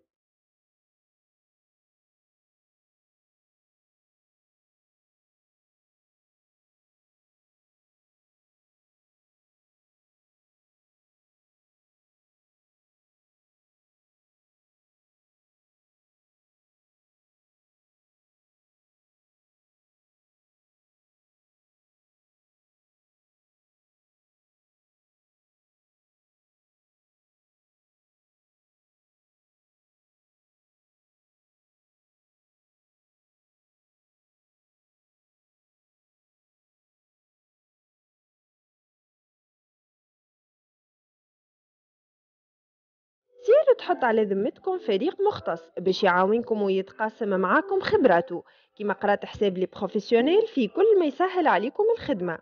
سير تحط على ذمتكم فريق مختص باش يعاونكم ويتقاسم معاكم خبراته، كما قرات حساب les professionnels في كل ما يسهل عليكم الخدمة.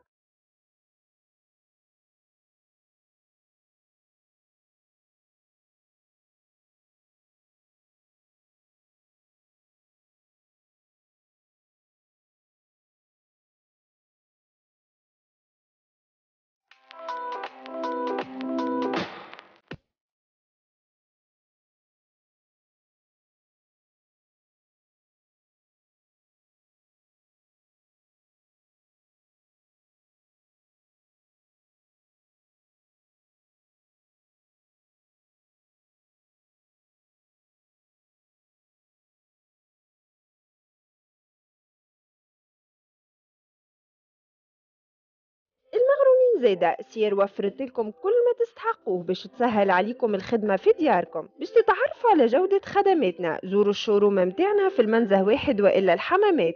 المغرومين زايدة سير وفرت لكم كل ما تستحقوه باش تسهل عليكم الخدمة في دياركم. باش تتعرفوا على جودة خدماتنا زوروا ال showroom متاعنا في المنزه واحد وإلا الحمامات.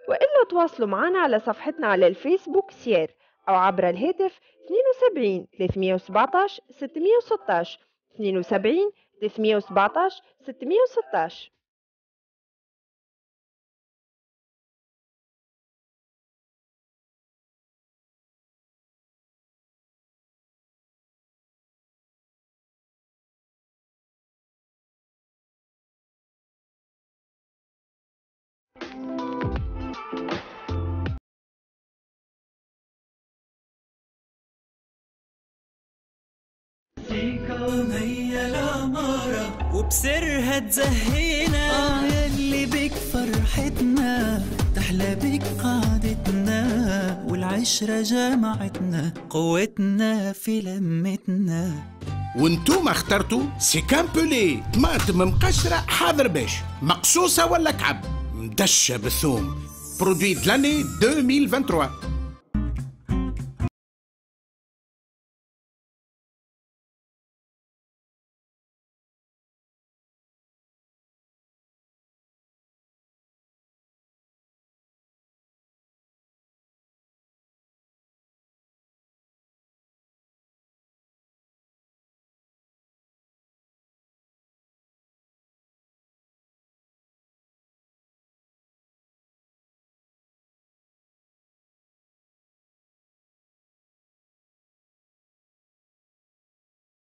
وإلا تواصلوا معنا على صفحتنا على الفيسبوك سير أو عبر الهاتف اثنين وسبعين ثلاثمية وسبعطاش ستمية وستاش اثنين وسبعين ثلاثمية وسبعطاش ستمية وستاش. هي العمارة وبسرها تزهينا، آه يلي بك فرحتنا تحلى بك قعدتنا، والعشرة جمعتنا قوتنا في لمتنا. وانتوما اخترتوا سيكامبولي طماطم مقشرة حاضر باش مقصوصة ولا كعب مدشة بالثوم، produit de l'année ألفين وثلاثة وعشرين.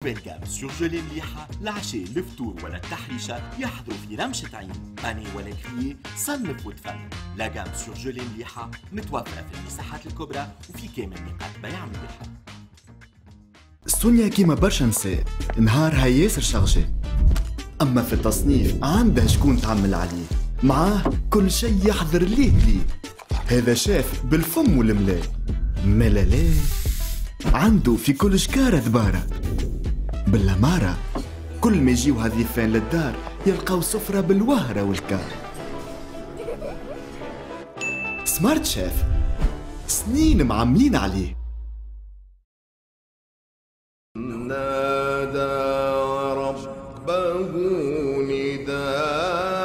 belle gamme surgelée مليحة، العشاء الفطور ولا التحريشة يحضروا في رمشة عين، pané ولا grillé صنف وتفنن. la gamme surgelée مليحة متوفرة في المساحات الكبرى وفي كامل نقاط بيع مليحة. سونيا كيما برشا نساء نهارها ياسر chargé، أما في التصنيف عندها شكون تعمل عليه، معاه كل شيء يحضر ليه ليه. هذا شاف بالفم والملا ملا لا عنده في كل شكارة ذبارة بالأمارة. كل ما يجيو هالضيفان للدار يلقاو سفرة بالوهرة والكار. سمارت شيف سنين معملين عليه. نادى ربه نداء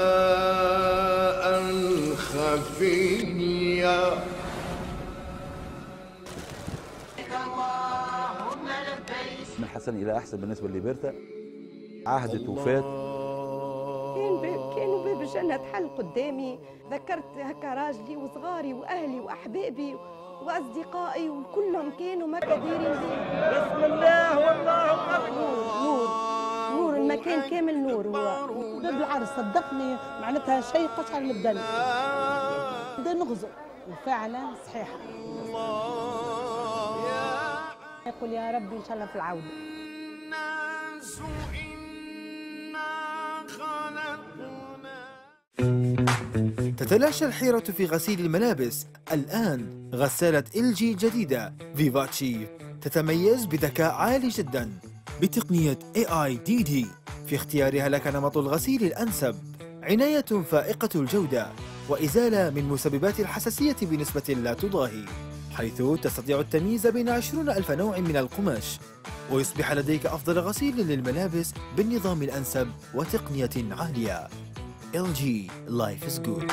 خفيا. من حسن إلى أحسن بالنسبة لليبرتا، عهدت وفات. كان باب كانوا باب الجنة تحل قدامي، ذكرت هكا راجلي وصغاري وأهلي وأحبابي وأصدقائي وكلهم كانوا ما كديرين بي. بسم الله والله أكبر. نور نور المكان كامل نور. هو باب العرس صدقني معناتها شيء قشعر البدن، بدا نغزو وفعلا صحيحة. يقول يا ربي إن شاء الله في العودة. الناس إنا خلقنا. تتلاشى الحيرة في غسيل الملابس. الآن غسالة إل جي الجديدة فيفاتشي تتميز بذكاء عالي جدا بتقنية إيه آي دي دي في اختيارها لك نمط الغسيل الأنسب، عناية فائقة الجودة وإزالة من مسببات الحساسية بنسبة لا تضاهي، حيث تستطيع التمييز بين عشرين ألف نوع من القماش، ويصبح لديك أفضل غسيل للملابس بالنظام الأنسب وتقنية عالية. إل جي Life is good.